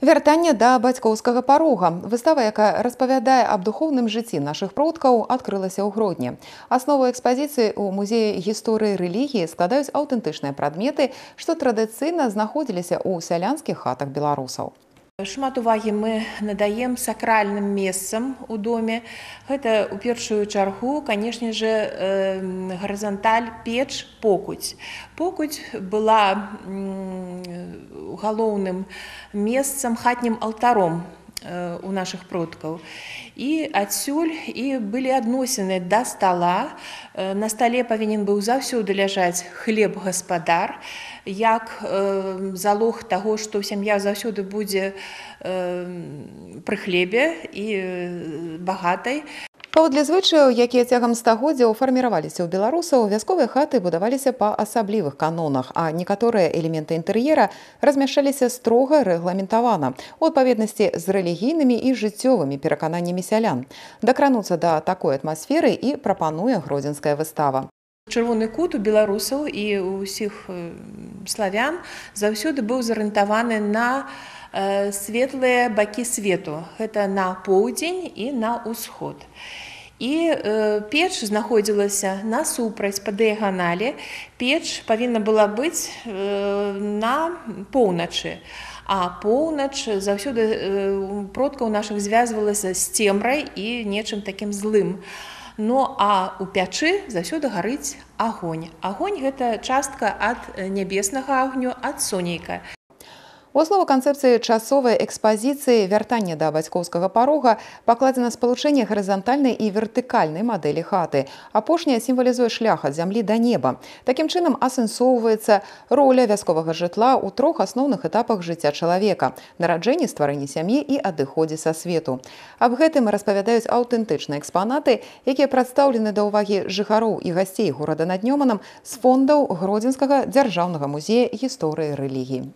Вяртанне да бацькоўскага парога. Выстава, якая распавядае аб духоўным жыцці нашых продкаў, адкрылася ў Гродні. Аснову экспазіцыі ў музеі гісторыі рэлігіі складаюць аўтэнтычныя прадметы, што традыцыйна знаходзіліся ў сялянскіх хатах беларусаў. Шмат увагі мы надаем сакральным месцам у доме. Гэта у першую чаргу, канешне же, гарызанталь, печ, покуць. Покуць была галоўным месцам, хатнім алтаром у нашых продкаў. І адсюль і былі адносіны да стала. На стале павінен быў заўсёды ляжаць хлеб-гаспадар, як залог таго, што сям'я заўсёды будзе пры хлебе і багатай. Паводле звычаяў, якія цягам стагоддзяў фарміраваліся ў беларусаў, вясковыя хаты будаваліся па асаблівых канонах, а некаторыя элементы інтэр'ера размяшчаліся строга рэгламентавана у адпаведнасці з рэлігійнымі і жыццёвымі перакананнямі сялян. Дакрануцца да такой атмасферы і прапануе гродзенская выстава. Чырвоны кут у беларусаў і ў усіх славян заўсёды быў зарыентаваны на светлыя бакі свету. Гэта на поўдзень і на ўсход. І печ знаходзілася насупраць па дыяганалі. Печ павінна была быць на поўначы. А поўнач заўсёды продкаў нашых звязвалася з цемрай і нечым такім злым. Ну а ў пячы заўсёды гарыць агонь. Агонь – гэта частка ад нябеснага агню, ад сонейка. У аснову канцэпцыі часовай экспазіцыі вяртання да бацькоўскага парога пакладзена спалучэнне гарызантальнай і вертыкальнай мадэлі хаты. Апошняя сімвалізуе шлях ад зямлі да неба. Такім чынам асэнсоўваецца роля вясковага жытла ў трох асноўных этапах жыцця чалавека – нараджэнні, стварэнні сям'і і адыходзе са свету. Аб гэтым распавядаюць аўтэнтычныя экспанаты, якія прадстаўлены да ўвагі жыхароў і гасцей горада над Нёманам з фондаў Гродзенскага дзяржаўнага музея гісторыі рэлігіі.